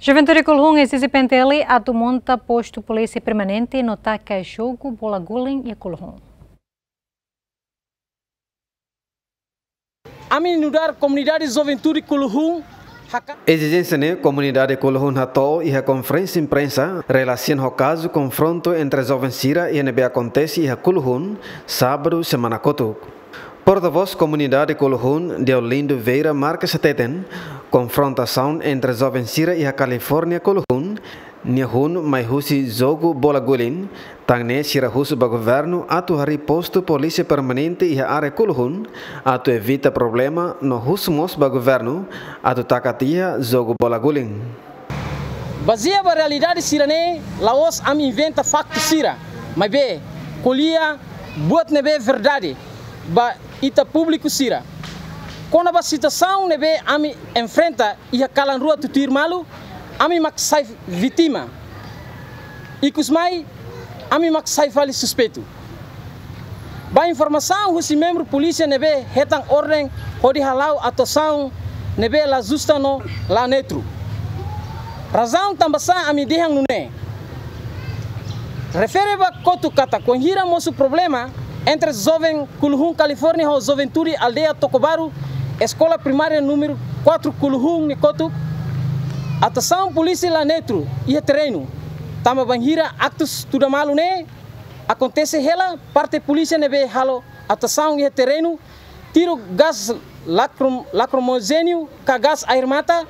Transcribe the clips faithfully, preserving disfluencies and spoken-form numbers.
Juventude Kuluhun ezije P N T L atu monta postu polísia permanente no taka jogu bola guling iha Kuluhun. Ami nu'udar komunidade Juventude Kuluhun haka- Ezijénsia ne'e komunidade Kuluhun hato'o iha konferénsia imprensa relasiona ho kazu konfrontu entre joven sira iha ne'ebé akontese iha Kuluhun, sábadu semana kotuk. Portavós komunidade Kuluhun, Deolindo Vieira Marques hateten, konfrontasaun entre joven sira iha California Kuluhun nia hun mai husi jogu bola guling, tan ne'e sira husu ba governu atu harii postu polísia permanente iha área Kuluhun, atu evita problema no husu mós ba governu atu taka tiha jogu bola guling. Bazeia ba realidade sira-ne'e, la'ós ami inventa faktu sira, maibé ko'alia buat ne'ebé verdade ba ita públiku sira. Kona-ba situasaun ne'ebé ami enfrenta iha kalan rua tutuir malu, ami mak sai vítima. Ikusmai, ami mak sai fali suspeitu. Ba informasaun husi membru polísia ne'ebé hetan orden hodi hala'o atuasaun ne'ebé la justa no la neutru. Razaun tanbasá ami dehan nune'e. Refere ba kotuk katak, wainhira mosu problema entre joven Kuluhun California ho juventude aldeia Tokobaru, eskola primária númeru quatro Kuluhun nia kotuk, atuasaun polísia la neutru iha terrenu. Tanba bainhira aktus tuda malu ne'e akontese hela, parte polísia ne'ebé halo atuasaun iha terrenu tiru gás lacrim-, lacrimogéneo ka gás air mata,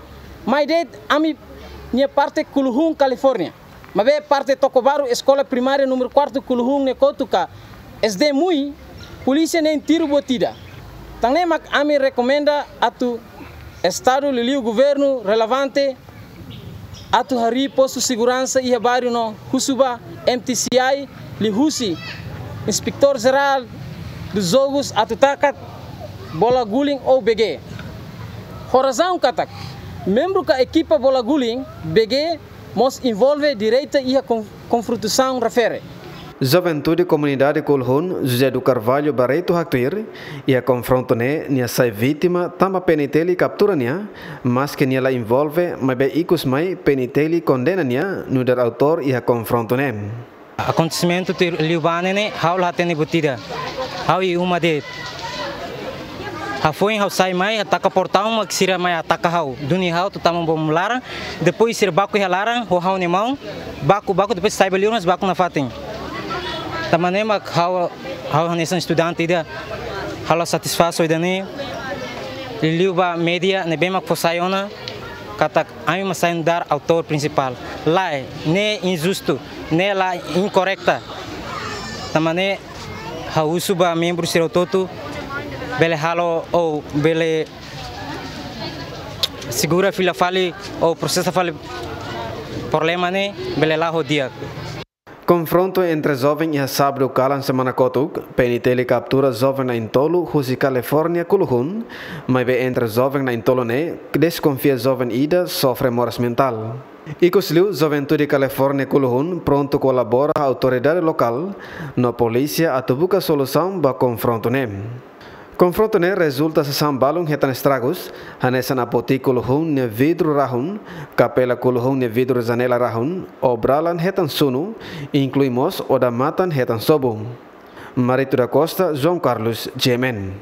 mai de'it ami-nia parte Kuluhun California. Maibé parte Tokobaru, eskola primária númeru quatro Kuluhun nia kotuk ka S D MUI, polísia na'in tiru buat ida. Tan ne'e mak ami rekomenda atu Estadu liuliu governu relevante atu harii postu seguransa iha bairru no husu ba M T C I liuhusi Inspetór Jerál dos Jogos atu taka bola guling ou B G. Ho razaun katak membru ka ekipa bola guling, B G mós envolve direta iha kon-, konfrontasaun refere. Juventude komunidade Kuluhun, José do Carvalho Barreto haktuir, iha konfrontu ne'e nia sai vítima tanba P N T L kaptura nia, maske nia la envolve, maibé ikusmai P N T L kondena nia nu'udar autór iha konfrontu ne'e. Akontesimentu tuir liubá ne'e, ha'u la hatene buat ida. Ha'u iha uma de'it. Hafoin ha'u sai mai, hataka portaun mak sira mai hataka ha'u. Duni ha'u atu tama bom laran, depois sira baku iha laran, ho ha'u-nia maun, baku, baku, depois sai ba liur mas baku nafatin. Tanba ne'e mak ha'u, ha'u hanesan estudante ida, ha'u la satisfás ho ida-ne'e, liuliu ba média ne'ebé mak fó sai ona, katak ami mak sai nu'udar autór prinsipál. Lae, ne'e injustu, ne'e la inkorreta. Tanba ne'e ha'u husu ba membru sira hotu-hotu, bele halo ou bele segura fila fali ou prosesa fali problema ne'e, bele la'o di'ak. Konfrontu entre joven iha sábadu kalan semana kotuk, P N T L kaptura joven na'in-tolu husi California Kuluhun, maibé entre joven na'in-tolu ne'e, deskonfia joven ida sofre moras mentál. Ikusliu, Juventude California Kuluhun prontu kolabora ho autoridade lokál no polísia atu buka solusaun ba konfrontu ne'e. Konfrontu ne'e rezulta sasán balun hetan estragus, hanesan apotik Kuluhun nia vidru rahun, kapela Kuluhun nia vidru janela rahun, obralan hetan sunu, inklui mós odamatan hetan sobu. Marito da Costa, João Carlos, G M N.